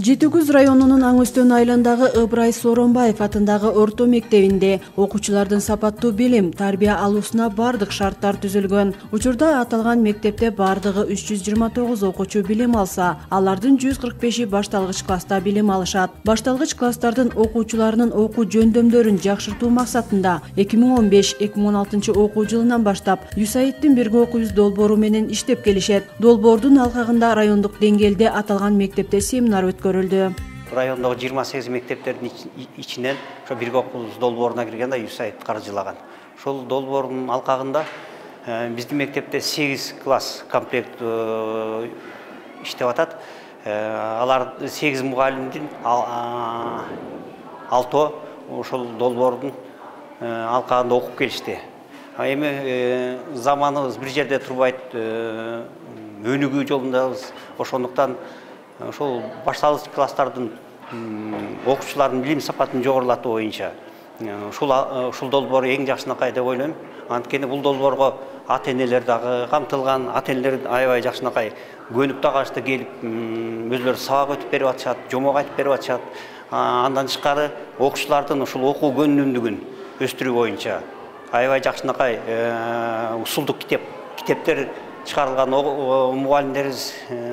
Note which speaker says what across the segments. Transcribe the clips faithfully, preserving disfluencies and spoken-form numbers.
Speaker 1: Жети Күз районунун Аң Өстөн айылындагы Ыбырай Сооронбаев атындагы орто мектебинде окуучулардын сапаттуу билим, тарбия алуусуна бардык шарттар түзүлгөн. Учурда аталган мектепте бардыгы үч жүз жыйырма тогуз окуучу билим алса, алардын жүз кырк беши башталгыч класста билим алышат. Башталгыч класстардын окуучуларынын окуу жөндөмдөрүн жакшыртуу максатында эки миң он беш эки миң он алтынчы окуу жылынан баштап ЮСАИДтин бирге окуйбуз долбоору менен иштеп келишет. Долбоордун алкагында райондук деңгээлде аталган мектепте семинар өткөрүлдү.
Speaker 2: Райондогу жыйырма сегиз мектептердин ичинен ошо бирге окуйбуз долбооруна кирген да ЮСАИД каржылаган. Ошол долбоордун алкагында биздин мектепте сегиз класс комплект иштеп атат. Алар сегиз мугалимдин алтоо ошол долбоордун алкагында окуп келишти. Эми заманыбыз бир жерде турбайт, өнүгүү жолундабыз. Ошондуктан ошол башталгыч класстардын окуучулардын билим сапатын жогорулатуу боюнча ушул ушул долбоор эң жакшынакай деп ойлойм. Анткени бул долбоорго ата-энелер дагы камтылган, ата-энелер аябай жакшынакай көнүп дагы келип өзлөрү сабак өтүп берип атышат, жомок айтып берип атышат. Андан тышкары окуучулардын ушул окуу көнүмдүгүн өстүрүү боюнча аябай жакшынакай усулдук китеп, китептер чыгарылган. Мугалимдерибиз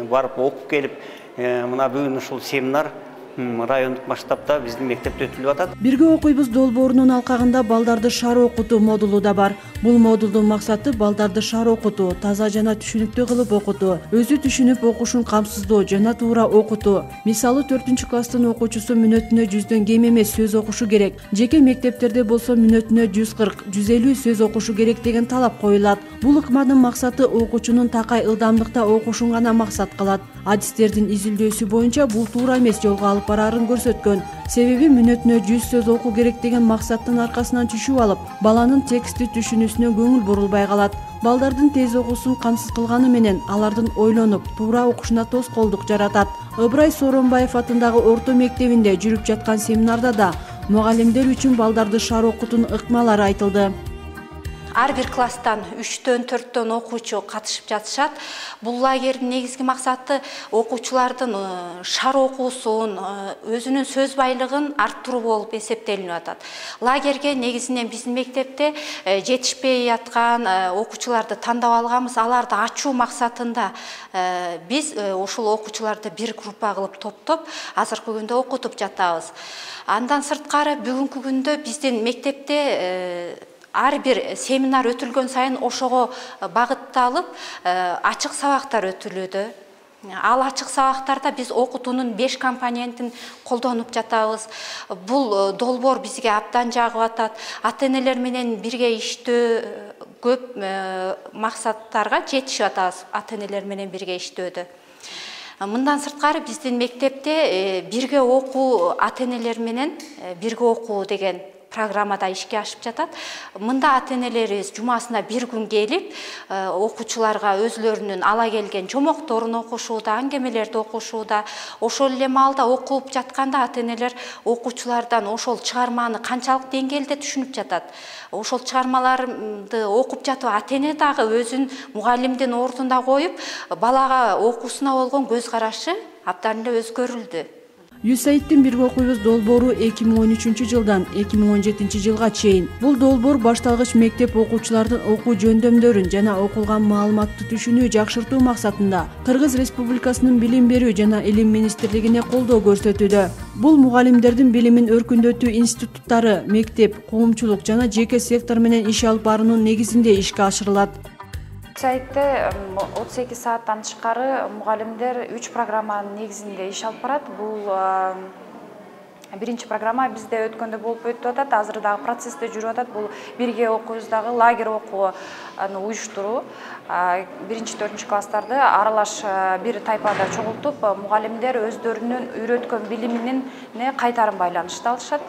Speaker 2: барып окуп келип, мына бүгүн ушул семинар райондук масштабта биздин мектепте өтүлүп атат.
Speaker 1: Бирге окуйбуз долбоорунун алкагында балдарды шаар окутуу модулу да бар. Бул модулдун максаты балдарды шаар окутуу, таза жана түшүнүктүү кылып окутуу, өзү түшүнүп окушун камсыздоо жана туура окутуу. Мисалы төртүнчү класстын окуучусу мүнөтүнө жүздөн кем эмес сөз окушу керек. Жеке мектептерде болсо мүнөтүнө жүз кырк жүз элүү сөз окушу керек деген талап коюлат. Бул ыкманын максаты окуучунун такай ылдамдыкта окушун гана максат кылат. Адистердин изилдөөсү боюнча бул туура эмес жолго алып барарын көрсөткөн. Себеби мүнөтүнө жүз сөз окуу керек деген максаттын аркасынан түшүп алып, баланын текстти түшүнүүсүнө көңүл бурулбай калат. Балдардын тез окуусун камсыз кылганы менен алардын ойлонуп, туура окушуна тоскоолдук жаратат. Ыбырай Сооронбаев атындагы орто мектебинде жүрүп жаткан семинарда да мугалимдер үчүн балдарды шаар окутуунун ыкмалары айтылды.
Speaker 3: Ар бир класстан үчтөн төрттөн окуучу катышып жатышат. Бул лагердин негизги максаты окуучулардын шаар окуусун, өзүнүн сөз байлыгын арттыруу болуп эсептелинип атат. Лагерге негизинен биздин мектепте жетишпей жаткан окуучуларды тандап алганбыз. Аларды ачуу максатында биз ушул окуучуларды бир группа кылып топтоп, азыркы күндө окутуп жатабыз. Андан сырткары бүгүнкү күндө биздин мектепте ар бир семинар өтүлгөн сайын ошого багытталып ачык сабактар өтүлүүдө. Ал ачык сабактарда биз окутуунун беш компонентин колдонуп жатабыз. Бул долбоор бизге абдан жагып атат. Ата-энелер менен бирге иштөө, көп максаттарга жетишип атабыз ата-энелер менен бирге иштөөдө. Мындан сырткары биздин мектепте бирге окуу, ата-энелер менен бирге окуу деген программада ишке ашып жатат. Мында ата-энелерибиз жумасына бир күн келип, окуучуларга өзлөрүнүн ала келген жомокторун окушууда, аңгемелерди окушууда. Ошол эле маалда окуп жатканда ата-энелер окуучулардан ошол чыгарманы канчалык деңгээлде түшүнүп жатат. Ошол чыгармаларды окуп жатып ата-эне дагы өзүн мугалимдин ордуна коюп, балага окуусуна болгон көз карашы абдан эле өзгөрүлдү.
Speaker 1: ЮСАИДтин бирге окуйбуз долбоору эки миң он үчүнчү жылдан эки миң он жетинчи жылга чейин. Бул долбоор башталгыч мектеп окуучулардын окуу жөндөмдөрүн жана окулган маалыматты түшүнүү жакшыртуу максатында Кыргыз Республикасынын билим берүү жана илим министрлигине колдоо көрсөтүүдө. Бул мугалимдердин билимин өркүндөтүү институттары, мектеп, коомчулук жана жеке сектор менен иш алып баруунун негизинде ишке ашырылат.
Speaker 4: ЮСАИДте отуз эки сааттан тышкары мугалимдер үч программанын негизинде иш алып барат. Бул биринчи программа бизде өткөндө болуп өтүп атат, азыр дагы процессте жүрүп атат. Бул бирге окуйбуздагы лагерь окууну уюштуруу. биринчи төртүнчү класстарды аралаш бир тайпада чогултуп, мугалимдер өздөрүнүн үйрөткөн билиминин кайтарым байланышты алышат.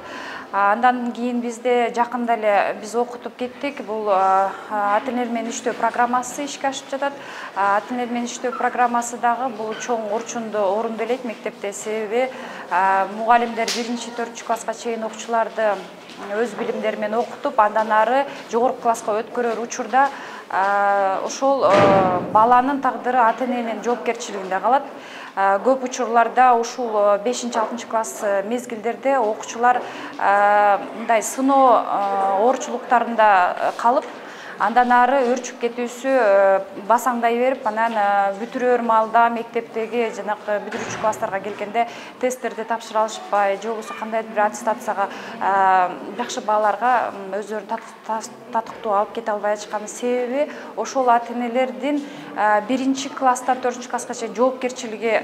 Speaker 4: Андан кийин бизде жакында эле биз окутуп кеттик. Бул ата-энелер менен иштөө программасы ишке ашып жатат. Ата-энелер менен иштөө программасы дагы бул чоң орчундо орунделет мектепте. Себеби мугалимдер биринчи төртүнчү класска чейин окуучуларды өз билимдери менен окутуп, андан ары жогорку класска өткөрөр учурда ошол баланын тагдыры ата-эненин жоопкерчилигинде калат. көп учурларда ушул бешинчи алтынчы класс мезгилдерде окуучулар мындай сыноо оорчулуктарында калып, андан ары өрчүп кетүүсү басаңдай берип, анан бүтүрөр маалда мектептеги жанакы бүтүрүүчү класстарга келгенде тесттерди тапшыра алышпай, же болбосо кандайдыр бир аттестацияга жакшы бааларга өздөрүн татыктуу алып кете албай жатышканын себеби ошол ата-энелердин биринчи класстан төртүнчү класска чейин жоопкерчилиги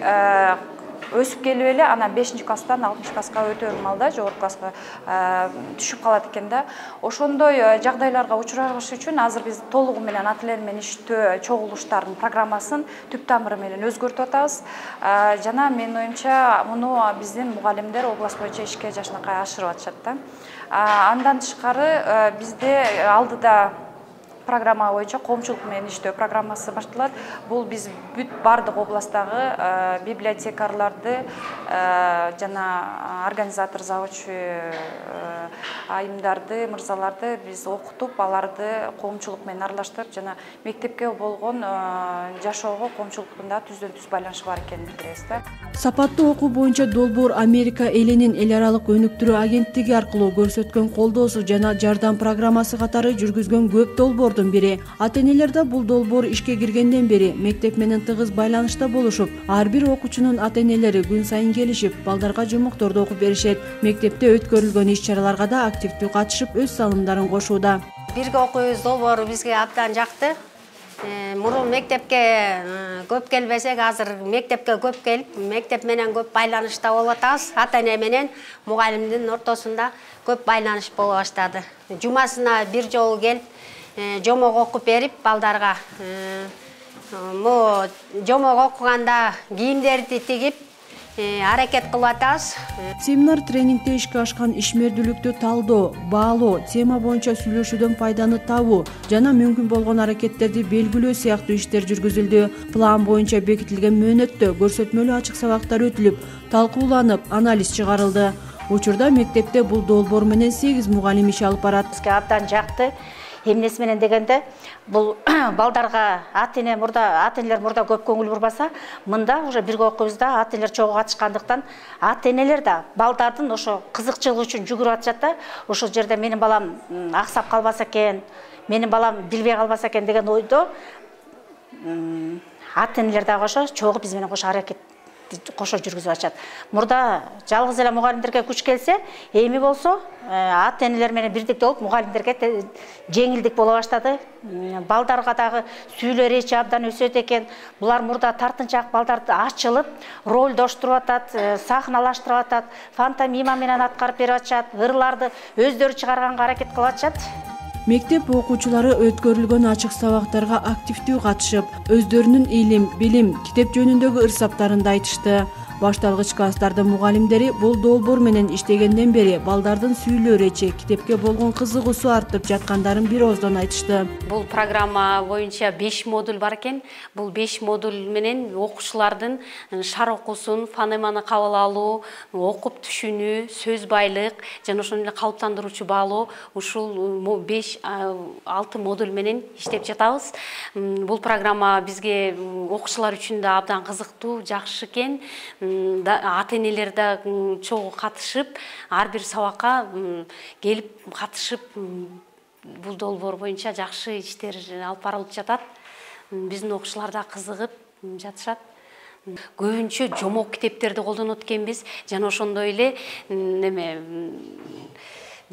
Speaker 4: өсүп келип эле, анан бешинчи класстан алтымыш класска өтөөр маалда жогорку класска түшүп калат экен да. Ошондой жагдайларга учурабаш үчүн азыр биз толугу менен ата-энелер менен иштөө чогулуштардын программасын түп тамыры менен өзгөртүп атабыз. Жана менин оюмча муну биздин мугалимдер область боюнча ишке жакшынакай ашырып атышат да. Андан тышкары бизде алдыда программа боюнча коомчулук менен иштөө программасы башталат. Бул биз бүт бардык областтагы библиотекарларды жана организатор, завучу айымдарды, мырзаларды биз окутуп, аларды коомчулук менен аралаштырып, жана мектепке болгон жашоого коомчулуктун да түздөн түз байланышы бар экенин билдиребиз да.
Speaker 1: Сапаттуу окуу боюнча долбоор Америка элинин эл аралык өнүктүрүү агенттиги аркылуу көрсөткөн колдоосу жана жардам программасы катары жүргүзгөн көп долбоордун бири. Ата-энелер да бул долбоор ишке киргенден бери мектеп менен тыгыз байланышта болушуп, ар бир окуучунун ата-энелери күн сайын келишип, балдарга жумукторду окуп беришет. Мектепте өткөрүлгөн иш-чараларга да активдүү катышып, өз салымдарын кошууда.
Speaker 5: Бирге окуйбуз долбоору бизге абдан жакты. Мурун мектепке көп келбесек, азыр мектепке көп келип, мектеп менен көп байланышта болуп атабыз. Ата-эне менен мугалимдин ортосунда көп байланыш боло баштады. Жумасына бир жолу келип, жомок окуп берип балдарга. Мо жомок окуганда кийимдерди тигип аракет кылып атабыз.
Speaker 1: Семинар тренингде ишке ашкан ишмердүүлүктү талдоо, баалоо, тема боюнча сүйлөшүүдөн пайданы табуу жана мүмкүн болгон аракеттерди белгилөө сыяктуу иштер жүргүзүлдү. План боюнча бекитилген мөөнөттө көрсөтмөлүү ачык сабактар өтүлүп, талкууланып, анализ чыгарылды. Учурда мектепте бул долбоор менен сегиз мугалим иш алып барат.
Speaker 6: Бизге абдан жакты. Эмнеси менен дегенде, бул балдарга ата-эне мурда, ата-энелер мурда көп көңүл бурбаса, мында уже бирге окуйбуз да, ата-энелер чогуу катышкандыктан, ата-энелер да балдардын ошо кызыкчылыгы үчүн жүгүрүп атышат да. Ошол жерде менин балам аксап калбаса экен, менин балам билбей калбаса экен деген ойдо ата-энелер дагы ошо чогуу биз менен кошо аракет кошо жүргүзүп атышат. Мурда жалгыз эле мугалимдерге күч келсе, эми болсо ата-энелер менен бирдикте болуп мугалимдерге жеңилдик боло баштады. Балдарга дагы сүйлөө речи абдан өсөт экен. Булар мурда тартынчаак балдарды ачылып, ролдоштуруп атат, сахналаштырып атат, фантомима менен аткарып берип атышат, ырларды өздөрү чыгарганга аракет кылып атышат.
Speaker 1: Мектеп окуучулары өткөрүлгөн ачык сабактарга активдүү катышып, өздөрүнүн илим, билим, китеп жөнүндөгү ырсаптарынды айтышты. Башталгыч класстардын мугалимдери бул долбоор менен иштегенден бери балдардын сүйлөө речи, китепке болгон кызыгуусу артып жаткандарын бир ооздон айтышты.
Speaker 7: Бул программа боюнча беш модуль бар экен. Бул беш модуль менен окуучулардын шар окуусун, фонеманы кабыл алуу, окуп түшүнүү, сөз байлык жана ошондой эле калыптандыруучу баалоо, ушул беш алты модуль менен иштеп жатабыз. Бул программа бизге окуучулар үчүн да абдан кызыктуу, жакшы экен. Ата-энелер да чогуу катышып, ар бир сабакка келип катышып, бул долбоор боюнча жакшы иштер алып барылып жатат. Биздин окуучулар да кызыгып жатышат. Көбүнчө жомок китептерди колдонот экенбиз, жана ошондой эле неме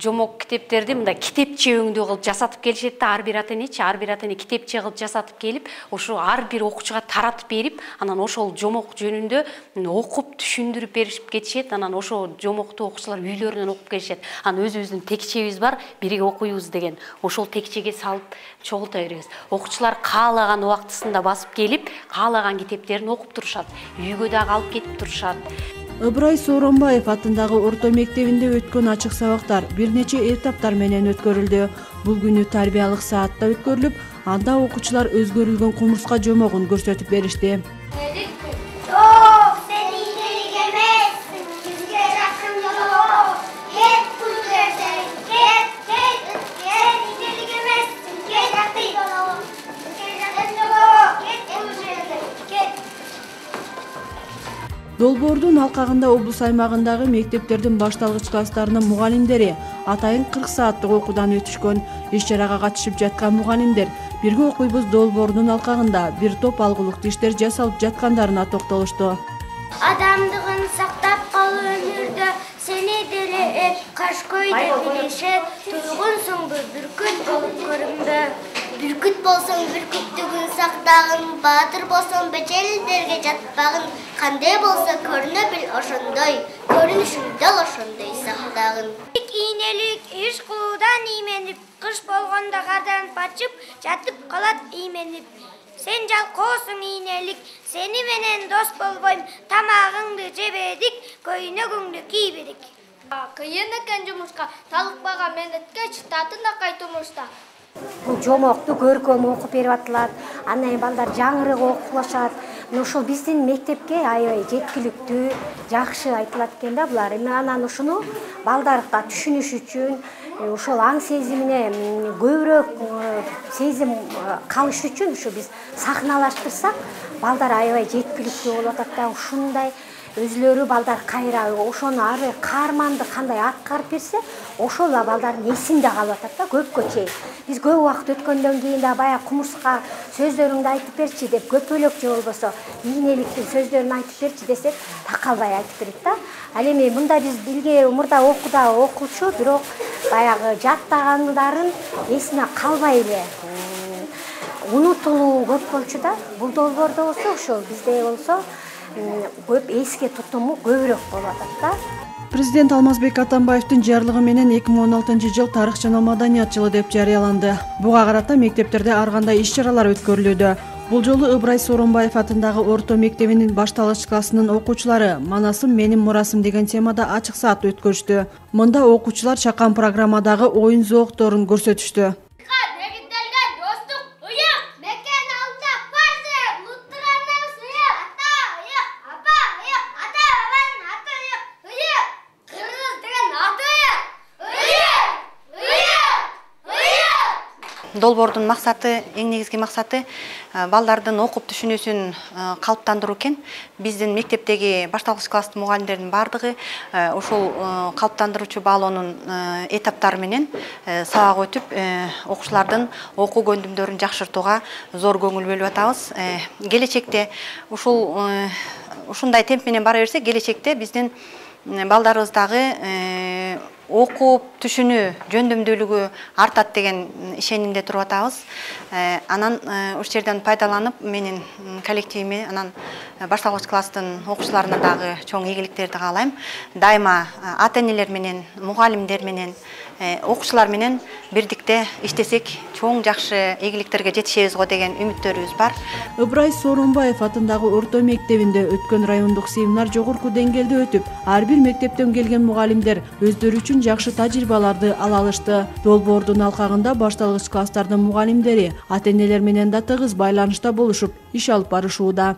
Speaker 7: жомок китептерди мындай китепче өңдүү кылып жасатып келишет да, ар бир ата-энечи, ар бир ата-эне китепче кылып жасатып келип, ошо ар бир окуучуга таратып берип, анан ошол жомок жөнүндө окуп түшүндүрүп беришип кетишет. Анан ошо жомокту окуучулар үйлөрүнөн окуп келишет. Анан өзүбүздүн текчебиз бар, бирге окуйбуз деген. Ошол текчеге салып чогулта беребиз. Окуучулар каалаган убактысында басып келип, каалаган китептерин окуп турушат. Үйгө дагы алып кетип турушат.
Speaker 1: Ыбырай Сооронбаев атындагы орто мектебинде өткөн ачык сабактар бир нече этаптар менен өткөрүлдү. Бул күнү тарбиялык саатта өткөрүлүп, анда окуучулар өзгөрүлгөн кумурска жомогун көрсөтүп беришти. Долбоордун алкагында облус аймагындагы мектептердин башталгыч класстарынын мугалимдери атайын кырк сааттык окуудан өтүшкөн. Иш-чарага катышып жаткан мугалимдер бирге окуйбуз долбоордун алкагында бир топ алгылыктуу иштер жасалып жаткандарына токтолушту.
Speaker 8: Адамдыгын сактап кал өмүрдө, сени деле эп кашкой деп билишет, туйгунсуңбу бүркүт болуп көрүнбө. Бүркүт болсоң бүркүттүгүн сактагын, баатыр болсоң бечелдерге жатпагын, кандай болсо көрүнө бил ошондой, көрүнүшүң дал ошондой сактагын. Ийнелик иш кылуудан ийменип, кыш болгондо кардан пачып, жатып калат ийменип. Сен жалкоосуң ийнелик, сени менен дос болбойм, тамагыңды жебедик, көйнөгүңдү кийбедик. Кыйын экен жумушка, талыкпаган менетке чытатын акай тумушта.
Speaker 9: Бул жомокту көркөм окуп берип атылат, андан кийин балдар жаңырык окулашат. Ошол биздин мектепке аябай жеткиликтүү, жакшы айтылат экен да булар. Эми анан ушуну балдарга түшүнүш үчүн, ошол аң сезимине көбүрөөк сезим калыш үчүн ушу биз сахналаштырсак, балдар аябай жеткиликтүү болуп атат да. Ушундай өзүлөрү балдар кайра ошону ары каарманды кандай аткарып берсе, ошол да балдардын эсинде калып атат да көпкө чейин. Биз көп убакыт өткөндөн кийин да баягы кумурска сөздөрүңдү айтып берчи деп көпөлөк же болбосо ийнеликтин сөздөрүн айтып берчи десек, такалбай айтып берет да. Ал эми мында биз билге мурда окууда окуучу, бирок баягы жаттагандарын эсине калбай эле унутулуу көп болчу да. Бул долбоордо болсо ошол бизде болсо көп эске тутуму көбүрөөк болуп атат да.
Speaker 1: Президент Алмазбек Атамбаевдин жарлыгы менен эки миң он алтынчы жыл тарых жана маданият жылы деп жарыяланды. Буга карата мектептерде ар кандай иш-чаралар өткөрүлүүдө. Бул жолу Ыбрай Сооронбаев атындагы орто мектебинин башталгыч классынын окуучулары «Манасым менин мурасым» деген темада ачык саат өткөрүштү. Мында окуучулар чакан программадагы оюн зоокторун көрсөтүштү.
Speaker 10: Долбоордун максаты, эң негизги максаты балдардын окуп түшүнүүсүн калыптандыруу экен. Биздин мектептеги башталгыч класстын мугалимдеринин бардыгы ошол калыптандыруучу баалоонун этаптары менен сабак өтүп, окуучулардын окуу көндүмдөрүн жакшыртууга зор көңүл бөлүп атабыз. Келечекте ушул ушундай темп менен бара берсек, келечекте биздин балдарыбыз дагы окуп түшүнүү жөндөмдүүлүгү артат деген ишенимде туруп атабыз. Анан ушул жерден пайдаланып, менин коллективиме, анан башталгыч класстын окуучуларына дагы чоң ийгиликтерди каалайм. Дайыма ата-энелер менен, мугалимдер менен, окуучулар менен бирдикте иштесек, чоң жакшы ийгиликтерге жетишебиз го деген үмүттөрүбүз бар.
Speaker 1: Ыбрай Сооронбаев атындагы орто мектебинде өткөн райондук семинар жогорку деңгээлде өтүп, ар бир мектептен келген мугалимдер өздөрү үчүн жакшы тажрыйбаларды ала алышты. Долбоордун алкагында башталгыч класстардын мугалимдери ата-энелер менен да тыгыз байланышта болушуп, иш алып барышууда.